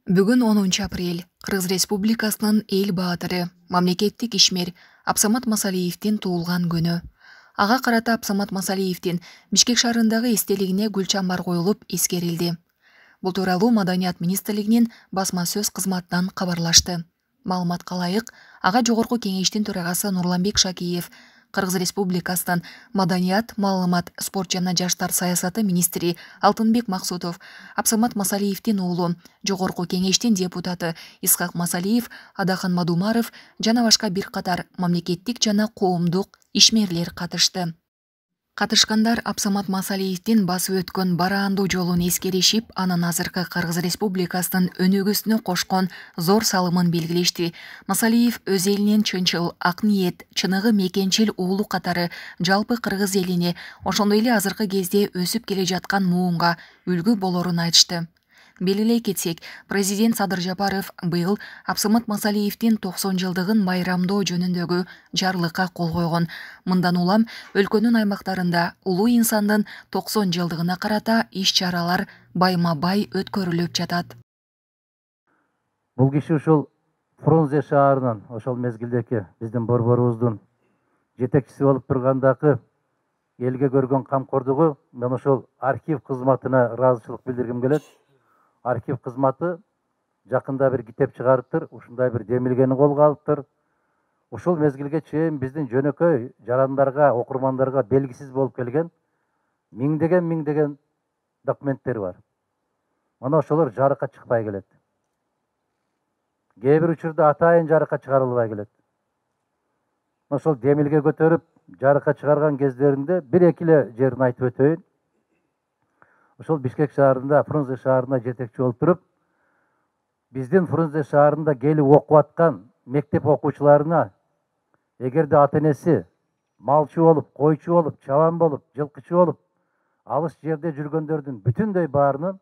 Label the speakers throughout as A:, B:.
A: Бүгүн 10 апрель Кыргыз Республикасынын эл баатыры, мамлекеттик ишмер Абсамат Масалиевдин туулган күнү. Ага карата Абсамат Масалиевдин Бишкек шаарындагы эстелигине гүл чамбар коюлуп эскерилди. Бул тууралуу Маданият министрлигинин басма сөз кызматынан кабарлашты. Маалыматка ылайык, ага Жогорку кеңештин төрагасы Нурланбек Шакиев, Кыргыз Республикасынын Маданият, маалымат, спорт жана жаштар саясаты министри Алтынбек Максутов, Абсамат Масалиевдин уулу, Жогорку кеңештин депутаты Исхак Масалиев, Адахан Мадумаров жана башка бир катар мамлекеттик жана коомдук ишмерлер катышты. Катышкандар Абсамат Масалиевдин басып өткөн бараандуу жолун эскеришип, анын азыркы Кыргыз Республикасынын өнүгүүсүнө кошкон зор салымын белгилешти. Масалиев өз элинин чынчыл, ак ниет, чыныгы мекенчил уулу катары жалпы кыргыз элине, ошондой эле азыркы кезде өсүп келе жаткан муунга үлгү болорун айтышты. Белгилей кетсек, президент Садыр Жапаров быйыл Абсамат Масалиевдин 90 жылдыгын байрамдоо жөнүндөгү жарлыкка кол койгон. Мындан улам өлкөнүн аймактарында улуу инсандын 90 жылдыгына карата иш-чаралар байма-бай өткөрүлүп жатат.
B: Бул киши ушул Фрунзе шаарынын ошол мезгилдеги биздин борборубуздун жетекчиси болуп тургандагы элге көргөн камкордугу, мен ошол архив кызматына ыраазычылык билдиргим келет. Архив кызматы жакында бир китеп чыгарыптыр, ушундай бир демилгени колго алыптыр. Ушул мезгилге чейин биздин жөнөкөй жарандарга, окурмандарга белгисиз болуп келген миңдеген документтер бар. Мына ошолор жарыкка чыкпай келет. Кээ бир учурда атайын жарыкка чыгарылбай келет. Ошол демилге көтөрүп жарыкка чыгарган кездеринде бир-эки эле жерин айтып өтөйүн. Ошол Бишкек шаарында, Фрунзе шаарына жетекчи болуп туруп, биздин Фрунзе шаарында келип окуп аткан мектеп окуучуларына эгерде ата-энеси малчы болуп, койчу болуп, чабан болуп, жылкычы болуп, алыс жерде жүргөндөрдүн бүтүндөй баарынын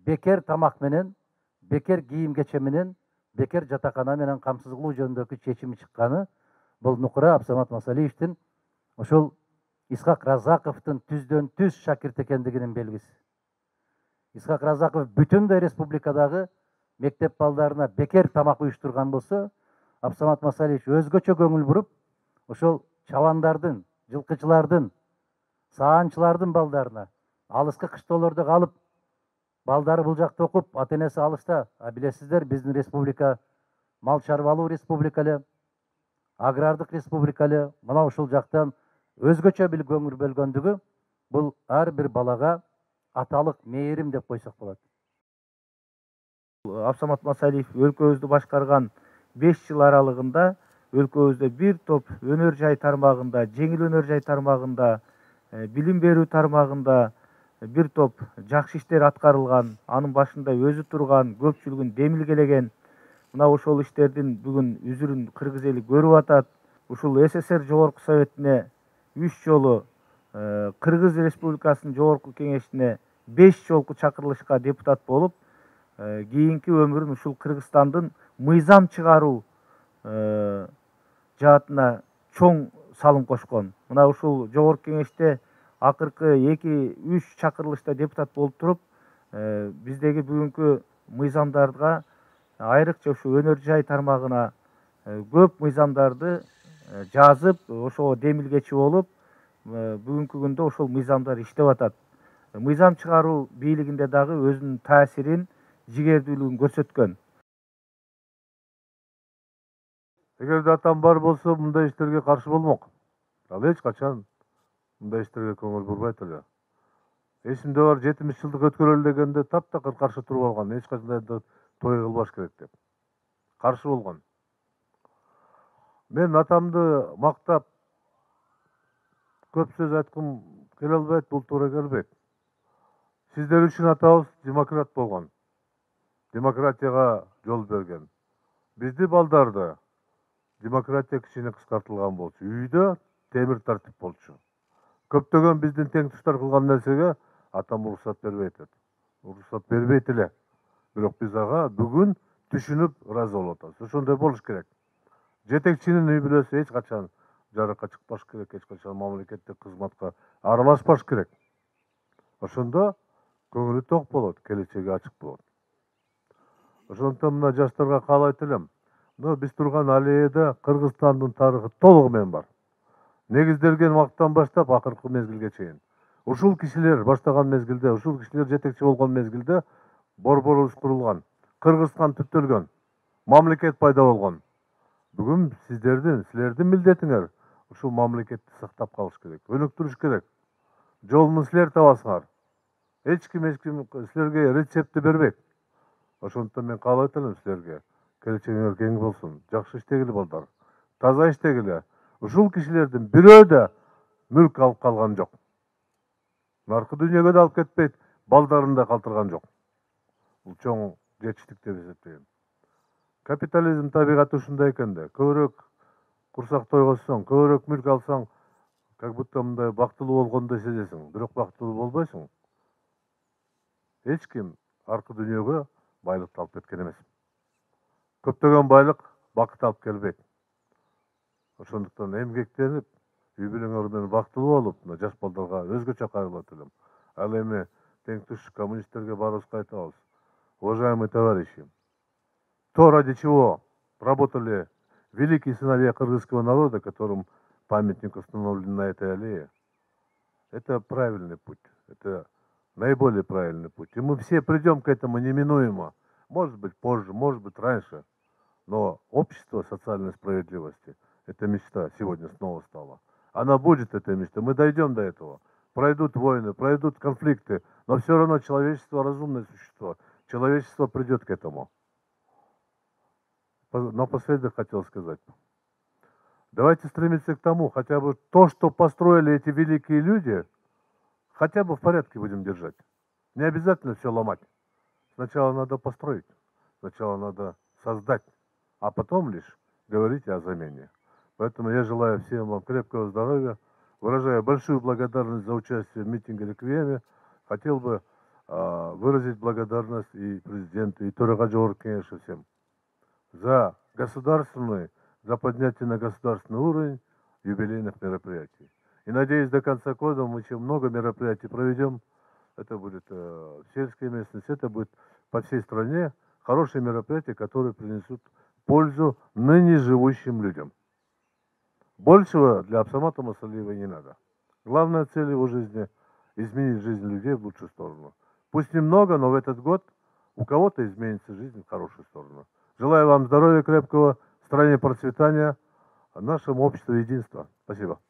B: бекер тамак менен, бекер кийим-кече менен, бекер жатакана менен камсыз кылуу жөнүндөгү чечими чыкканы бул нукура Абсамат Масалиевдин ошол Исхак Разаковдун түздөн түз шакирт экендигинин белгиси. Исхак Разаков бүтүндөй республикадагы мектеп балдарына бекер тамак уюштурган болсо, Абсамат Масалиев өзгөчө көңүл буруп, ошол чабандардын, жылкычылардын, саанчылардын балдарына алыскы кыштоолордо калып, балдары бул жакта окуп, ата-энеси алыста. Билесиздер, биздин республика мал чарбалуу республика эле, агрардык республика эле. Мына ушул жактан өзгөчө бир көңүл бөлгөндүгү бул ар бир балага аталык мээрим деп койсок болот.
C: Абсамат Масалиев өлкөбүздү башкарган 5 жыл аралыгында өлкөбүздө бир топ өнөр жай тармагында, жеңил өнөр жай тармагында, билим берүү тармагында бир топ жакшы иштер аткарылган, анын башында өзү турган, көпчүлүгүн демилгелеген. Мына ошол иштердин бүгүн үзүрүн кыргыз эли көрүп атат. Ушул СССР Жогорку Советине 3 жолу, Кыргыз Республикасынын Жогорку Кеңешине 5 жолку чакырылышка депутат болуп, кийинки өмүрүн ушул Кыргызстандын мыйзам чыгаруу жаатына чоң салым кошкон. Мына ушул Жогорку Кеңеште акыркы 2-3 чакырылышта депутат болуп туруп, биздеги бүгүнкү мыйзамдарга, айрыкча ушу өнөр жай тармагына көп мыйзамдарды жазып, ошого демилгечи болуп, бүгүнкү күндө ошол мыйзамдар иштеп атат. Мыйзам чыгаруу бийлигинде дагы өзүнүн таасирин, жигердүүлүгүн көрсөткөн.
D: Эгерде атам бар болсо, мындай иштерге каршы болмок. Ал эч качан мындай иштерге көңүл бурбайт эле. Эсимде бар 70 жылдык өткөрөлү дегенде таптакыр каршы туруп алган, эч кандай той кылбаш керек деп. Каршы болгон. Мен атамды мактап көп сөз айткым келе албайт, бул туура келбейт. Сиздер үчүн атабыз демократ болгон. Демократияга жол берген. Бизди балдарды демократия кичине кыскартылган болчу. Үйдө темир тартип болчу. Көптөгөн биздин тең туштар кылган нерсеге атам уруксат бербейт. Уруксат бербейт эле. Бирок биз ага бүгүн түшүнүп ыраазы болуп атабыз. Ошондой болуш керек. Жетекчинин үй бүлөсү эч качан жарыкка чыкпаш керек, эч качан мамлекеттик кызматка аралашпаш керек. Ошондо көңүлү ток болот, келечеги ачык болот. Ошондуктан мына жаштарга каалайт элем. Мына биз турган аллеяда Кыргызстандын тарыхы толугу менен бар. Негизделген убакыттан баштап акыркы мезгилге чейин. Ушул кишилер баштаган мезгилде, ушул кишилер жетекчи болгон мезгилде борборубуз курулган, Кыргызстан түптөлгөн, мамлекет пайда болгон. Бүгүн силердин милдетиңер ушул мамлекетти сактап калыш керек, өнүктүрүш керек. Жолун силер табасыңар. Эч ким силерге рецептти бербейт. Ошондуктан мен каалайт элем силерге, келечегиңер кең болсун, жакшы иштегиле балдар, таза иштегиле. Ушул кишилердин бирөө да мүлк алып калган жок. Наркы дүйнөгө да алып кетпейт, балдарын да калтырган жок. Бул чоң жетиштик деп эсептейм. Капитализм табигаты ушундай экен да, көбүрөөк курсак тойгозсоң, көбүрөөк мүлк алсаң, как будто мындай бактылуу болгондой сезесиң, бирок бактылуу болбойсуң. Эч ким аркы дүйнөгө байлыкты алып кеткен эмес. Көптөгөн байлык бакыт алып келбейт. Ошондуктан эмгектенип, үй бүлөңөр менен бактылуу болуп, мына жаш балдарга өзгөчө кайрылат элем. Ал эми тең туш коммунисттерге баарыбызга айтабыз. Уважаемые товарищи, то, ради чего работали великие сыновья кыргызского народа, которым памятник установлен на этой аллее, это правильный путь, это наиболее правильный путь. И мы все придем к этому неминуемо. Может быть позже, может быть раньше. Но общество социальной справедливости – это мечта сегодня снова стала. Она будет, эта мечта. Мы дойдем до этого. Пройдут войны, пройдут конфликты, но все равно человечество – разумное существо. Человечество придет к этому. Напоследок хотел сказать. Давайте стремиться к тому, хотя бы то, что построили эти великие люди, хотя бы в порядке будем держать. Не обязательно все ломать. Сначала надо построить, сначала надо создать, а потом лишь говорить о замене. Поэтому я желаю всем вам крепкого здоровья, выражаю большую благодарность за участие в митинге «Реквиеме». Хотел бы выразить благодарность и президенту, и Төраға Жогорку Кеңешу всем за за поднятие на государственный уровень юбилейных мероприятий. И надеюсь, до конца года мы еще много мероприятий проведем. Это будет в сельской местности, это будет по всей стране. Хорошие мероприятия, которые принесут пользу ныне живущим людям. Большего для Абсамата Масалиева не надо. Главная цель его жизни – изменить жизнь людей в лучшую сторону. Пусть немного, но в этот год у кого-то изменится жизнь в хорошую сторону. Желаю вам здоровья крепкого, в стране процветания, нашему обществу единства. Спасибо.